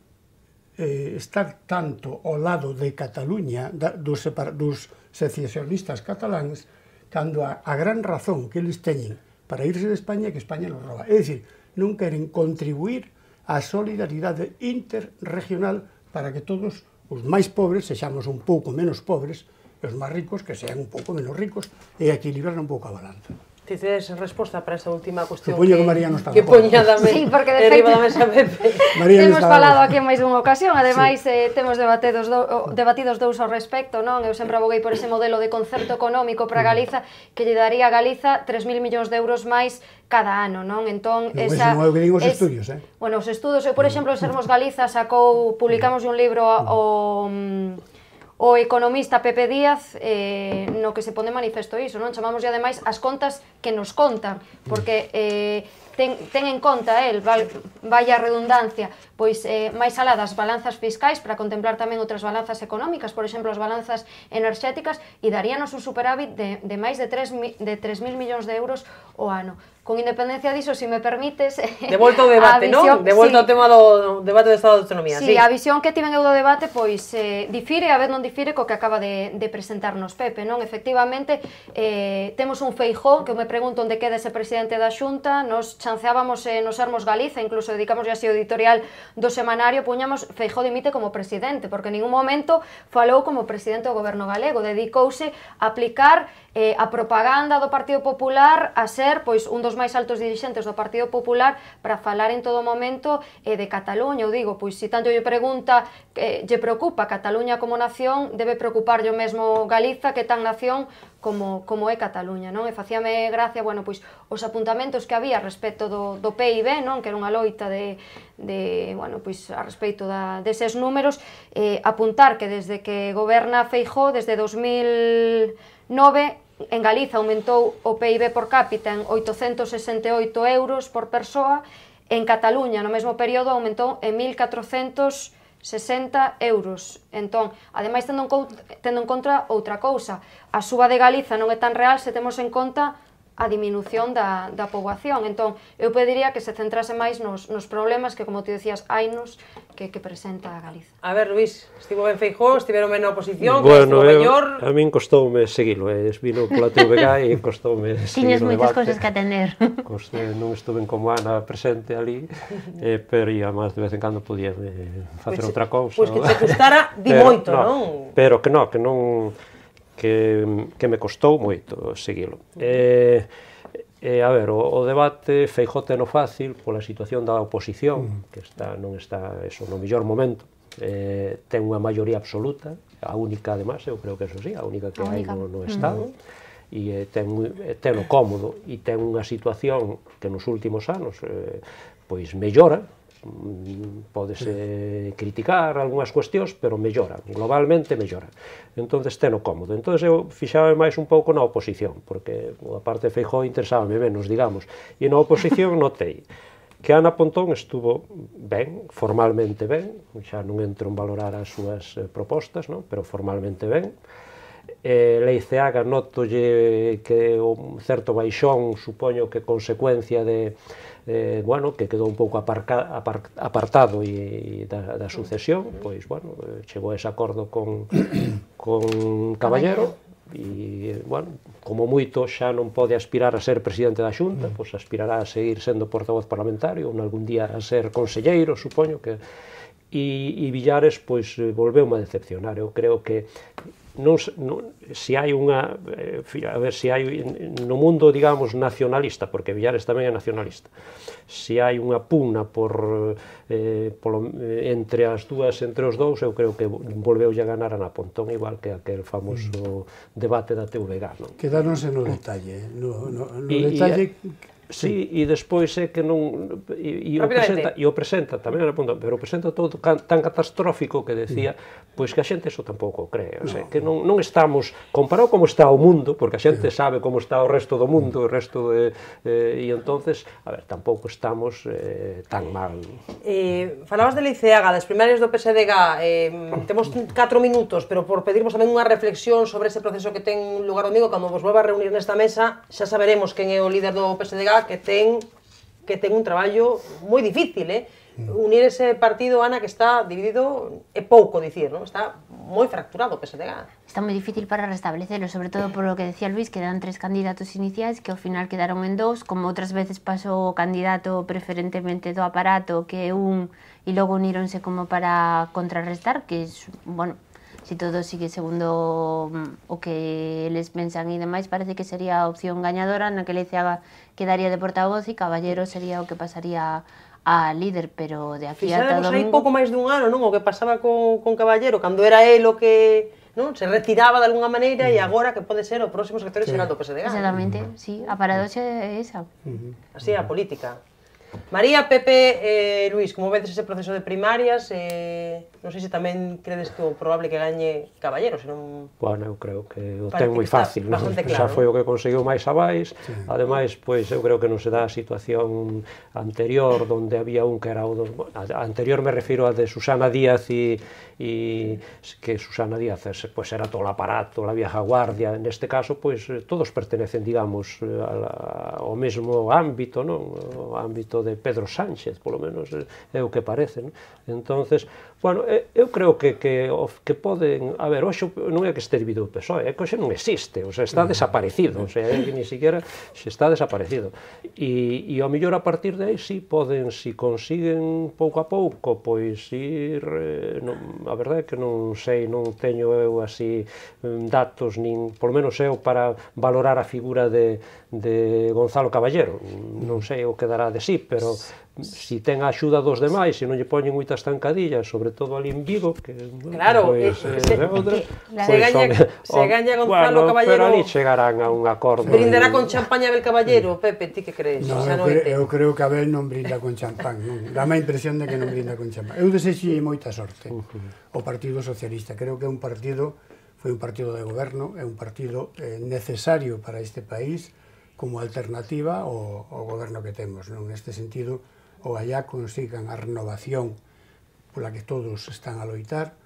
eh, estar tanto ao lado de Cataluña, da, dos, separa, dos secesionistas cataláns, cando a, a gran razón que eles teñen para irse de España é que España nos roba. É dicir, non queren contribuir á solidaridade interregional para que todos os máis pobres sexamos un pouco menos pobres e os máis ricos que sean un pouco menos ricos e equilibrar un pouco a balanza. Tices resposta para esta última cuestión Supoño que, que María non está que de acordo. poña da me, Sí, porque de arriba feito- da mesa Pepe. María Temos estaba- falado aquí en máis dunha ocasión, ademais eh, temos debatidos, do, debatidos dous ao respecto, non? Eu sempre aboguei por ese modelo de concerto económico para Galiza que lle daría a Galiza tres mil millóns de euros máis cada ano, non? Entón, Non, esa, ese non é o que din os estudios, eh? Bueno, os estudos, eu, por exemplo, en Sermos Galiza sacou, publicamos un libro o... o economista Pepe Díaz eh, no que se pone manifesto iso, non? Chamamos ademais as contas que nos contan, porque eh, ten, ten en conta el, val, vaya redundancia, pois eh, máis alá das balanzas fiscais para contemplar tamén outras balanzas económicas, por exemplo, as balanzas enerxéticas, e daríanos un superávit de, de máis de tres mil millóns de euros o ano. Con independencia diso, se me permites... De volta ao debate, non? De volta ao tema do debate do Estado de Autonomía, sí. Sí, a visión que tiven eu do debate, pois, eh, difire, a vez non difire co que acaba de, de presentarnos Pepe, non? Efectivamente, eh, temos un Feijóo, que eu me pregunto onde queda ese presidente da Xunta, nos chanceábamos eh, nos Sermos Galiza, incluso dedicamos así o editorial do semanario, puñamos Feijóo dimite como presidente, porque en ningún momento falou como presidente do goberno galego, dedicouse a aplicar eh, a propaganda do Partido Popular a ser, pois, un dos máis altos dirixentes do Partido Popular para falar en todo momento eh, de Cataluña. Eu digo, pois, se tanto lle pregunta eh, lle preocupa Cataluña como nación, debe preocupar yo mesmo Galiza, que tan nación como, como é Cataluña, non? E facíame gracia, bueno, pois, os apuntamentos que había respecto do, do P I B, non? Que era unha loita de, de bueno, pois, a respecto da, deses números, eh, apuntar que desde que goberna Feijóo, desde dos mil nove, en Galiza aumentou o P I B por cápita en oitocentos sesenta e oito euros por persoa, en Cataluña no mesmo período aumentou en mil catrocentos sesenta euros. Entón, ademais, tendo en, tendo en contra outra cousa, a suba de Galiza non é tan real se temos en conta a diminución da, da poboación. Entón, eu pediría que se centrase máis nos, nos problemas que, como ti decías, hainos que, que presenta a Galiza. A ver, Luís, estivo ben Feijóo, estiveron ben na oposición, bueno, que estivo mellor... A min costoume seguilo, eh, vino pola T V G e costoume seguir Tiñes o moitas debate. cousas que atender. Coste, non estuve como Ana presente ali, eh, pero ia máis de vez en cando podía eh, facer Pois, outra cousa. Pois que te custara di pero, moito, no, non? Pero que non, que non... que, que me costou moito seguilo. Eh, eh, a ver, o, o debate Feijóo teno fácil pola situación da oposición, que está non está eso no mellor momento, eh, ten unha maioría absoluta, a única además, eu creo que eso sí, a única que a hai no, no Estado, e eh, ten, ten o cómodo e ten unha situación que nos últimos anos eh, pois mellora, podese criticar algunhas cuestións, pero mellora, globalmente mellora. Entonces ten o cómodo. Entonces eu fixaba máis un pouco na oposición, porque a parte de Feijóo interesábame menos, digamos, e na oposición notei que Ana Pontón estuvo ben, formalmente ben, xa non entro en valorar as súas propostas, non? Pero formalmente ben. Eh, Leiceaga notolle que un certo baixón, supoño que consecuencia de eh, bueno, que quedou un pouco aparca, apar, apartado e, e da, da sucesión, pois, bueno, chegou a ese acordo con, con Caballero, e, bueno, como moito xa non pode aspirar a ser presidente da Xunta, pois aspirará a seguir sendo portavoz parlamentario, ou algún día a ser conselleiro, supoño que... E, e Villares, pois, volveu a decepcionar. Eu creo que non, non, se hai unha, eh, a ver, se hai no mundo, digamos, nacionalista, porque Villares tamén é nacionalista, se hai unha pugna por eh, polo, entre as dúas, entre os dous, eu creo que volveu a ganar a Ana Pontón, igual que aquel famoso debate da T V G, non? Quedáronse no detalle, no, no, no e, detalle... E, sí, e despois é que non... E, e, o presenta, e o presenta tamén, pero o presenta todo tan catastrófico que decía, pois que a xente eso tampouco cree, o sea, que non, non estamos, comparado como está o mundo, porque a xente sabe como está o resto do mundo, o resto de... Eh, e entonces, a ver, tampouco estamos eh, tan mal. Eh, falabas de Leiceaga, das primarias do P S D G, eh, temos catro minutos, pero por pedirvos tamén unha reflexión sobre ese proceso que ten lugar domingo, cando vos volva a reunir nesta mesa, xa saberemos quen é o líder do P S D G, que ten que ten un traballo moi difícil, eh? Unir ese partido, Ana, que está dividido, é pouco dicir, non? Está moi fracturado o P S D G. Está moi difícil para restablecerlo, sobre todo por lo que decía Luis, que eran tres candidatos iniciais que ao final quedaron en dous, como outras veces pasou o candidato preferentemente do aparato, que é un, e logo uníronse como para contrarrestar, que é, bueno, si todo sigue segundo o que eles pensan e demais, parece que sería a opción gañadora, na que Leiceaga quedaría de portavoz e Caballero sería o que pasaría a líder, pero de aquí ata domingo... Fixáramos aí pouco máis dun ano, non? O que pasaba con, con Caballero, cando era el o que... non? Se retiraba de alguna maneira e agora que pode ser o próximo secretario xeral do P S D G. Exactamente, sí, a paradoxa é esa. Así é a política. María, Pepe, eh, Luís, como vedes ese proceso de primarias, eh, non sei se tamén credes que o probable que gañe Caballero, senón... Bueno, eu creo que o ten moi fácil, non? Claro, Xa foi o que conseguiu máis abais, sí. Ademais, pois, eu creo que non se dá a situación anterior, onde había un que era o... Do, a anterior me refiro a de Susana Díaz e, e que Susana Díaz pois, era todo o aparato, a vieja guardia, neste caso, pois, todos pertenecen, digamos, ao mesmo ámbito, non? O ámbito de Pedro Sánchez, polo menos é o que parece, non? Entonces, bueno, eu creo que, que, que poden... A ver, hoxe non é que este dividido o P S O E, é que hoxe non existe, o sea, está desaparecido, o sea, é que ni siquiera se está desaparecido. E, e ao mellor a partir de aí, si poden, si consiguen pouco a pouco, pois ir... Eh, non, a verdade é que non sei, non teño eu así datos, nin, polo menos eu, para valorar a figura de, de Gonzalo Caballero. Non sei o que dará de sí, pero si ten a axuda dos demais, se non lle poñen moitas tancadillas, sobre todo ali en Vigo, que claro, pois, eh, eh, se, outra, se, pues, gaña, se gaña Gonzalo bueno, Caballero, pero ali chegarán a un acordo. Brindará con champaña Abel Caballero, Pepe, ti que crees? No, eu, cre, eu creo que Abel non brinda con champán, non? Dame a impresión de que non brinda con champán. Eu desexei moita sorte o Partido Socialista, creo que é un partido, foi un partido de goberno, é un partido eh, necesario para este país como alternativa ao, ao goberno que temos, non? Neste sentido, ou allá consigan a renovación pola que todos están a loitar,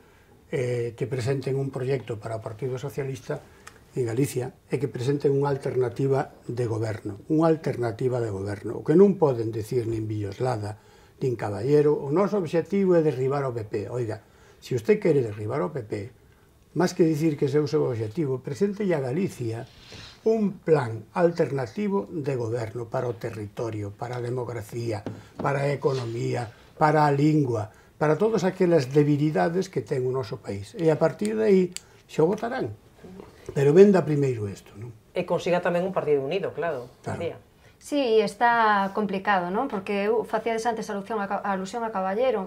eh, que presenten un proxecto para o Partido Socialista en Galicia e que presenten unha alternativa de goberno, unha alternativa de goberno. O que non poden decir nin Villoslada, nin Caballero, o noso obxectivo é derribar o P P. Oiga, se usted quere derribar o P P, máis que dicir que ese é o seu obxectivo, presente a Galicia un plan alternativo de goberno para o territorio, para a democracia, para a economía, para a lingua, para todas aquelas debilidades que ten o noso país. E a partir de aí xa votarán. Pero venda primeiro isto, non? E consiga tamén un partido unido, claro. Claro. Sí, está complicado, non? Porque eu facíades antes alusión a, a alusión a Caballero.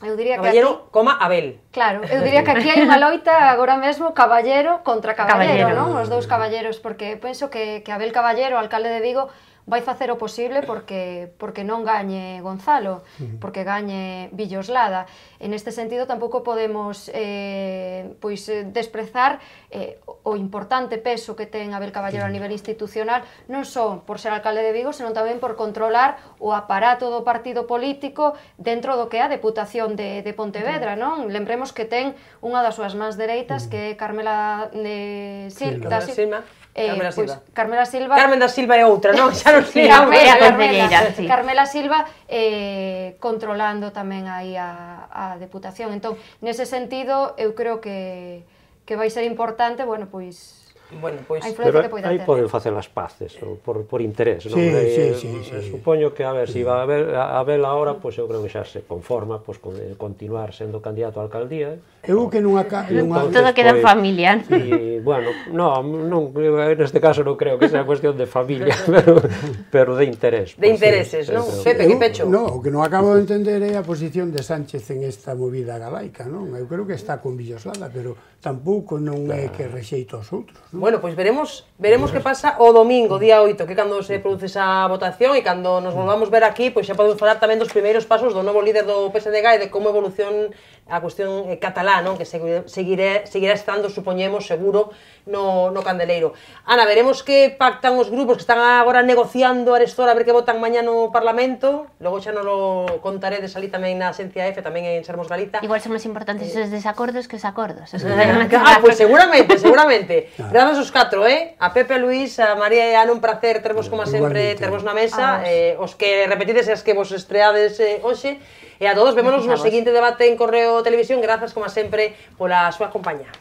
Eu diría Caballero, que aquí, coma Abel. Claro, eu diría que aquí hai unha loita agora mesmo Caballero contra Caballero, Caballero. non? Os dous caballeros, porque penso que, que Abel Caballero, alcalde de Vigo, vai facer o posible porque porque non gañe Gonzalo, porque gañe Villoslada. En este sentido tampouco podemos eh, pois desprezar eh, o importante peso que ten Abel Caballero a nivel institucional, non só por ser alcalde de Vigo, senón tamén por controlar o aparato do partido político dentro do que é a Deputación de, de Pontevedra, non? Lembremos que ten unha das súas mans dereitas, que é Carmela de Sil, Sí, da Carmela Silva. Eh, Carmela pois, Silva. Carmela Silva. Carmen da Silva é outra, non? Xa non sei. Sí, a Carmela, concelleira, sí. Carmela Silva eh, controlando tamén aí a, a Deputación. Entón, nese sentido, eu creo que, que vai ser importante, bueno, pois... Bueno, pois... a influencia que Pero poida aí ter. poden facer as paces, ou por, por interés, non? Sí, Eh, sí, sí, sí. Supoño que, a ver, se si va a ver a ver ahora, pois eu creo que xa se conforma pois, con eh, continuar sendo candidato a alcaldía. Eu que nunha... nunha... Todo queda en familia. E, bueno, no, non, neste caso non creo que sea cuestión de familia, pero, pero de interés. De pues, intereses, sí, non? creo. Pepe, que pecho? No, o que non acabo de entender é a posición de Sánchez en esta movida galaica, non? Eu creo que está con Villoslada, pero tampouco non é que rexeito aos outros, non? Bueno, pois veremos veremos que pasa o domingo, día oito, que é cando se produce esa votación e cando nos volvamos ver aquí, pois xa podemos falar tamén dos primeiros pasos do novo líder do P S D G e de como evolución a cuestión eh, catalá, non? Que seguirá, seguirá estando, supoñemos, seguro, no, no Candeleiro. Ana, veremos que pactan os grupos que están agora negociando a Arestora a ver que votan mañá no Parlamento, logo xa non lo contaredes ali tamén na Xencia F, tamén en Sermos Galiza. Igual son máis importantes os desacordos que os acordos. Ah, pois pues seguramente, seguramente. Grazas os catro, eh? A Pepe, a Luís, a María e a Ana, un placer tervos como sempre, tervos na mesa, eh, os que repetides e as que vos estreades eh, hoxe, e a todos, vémonos no seguinte debate en Correo Televisión, grazas como sempre pola súa compañía.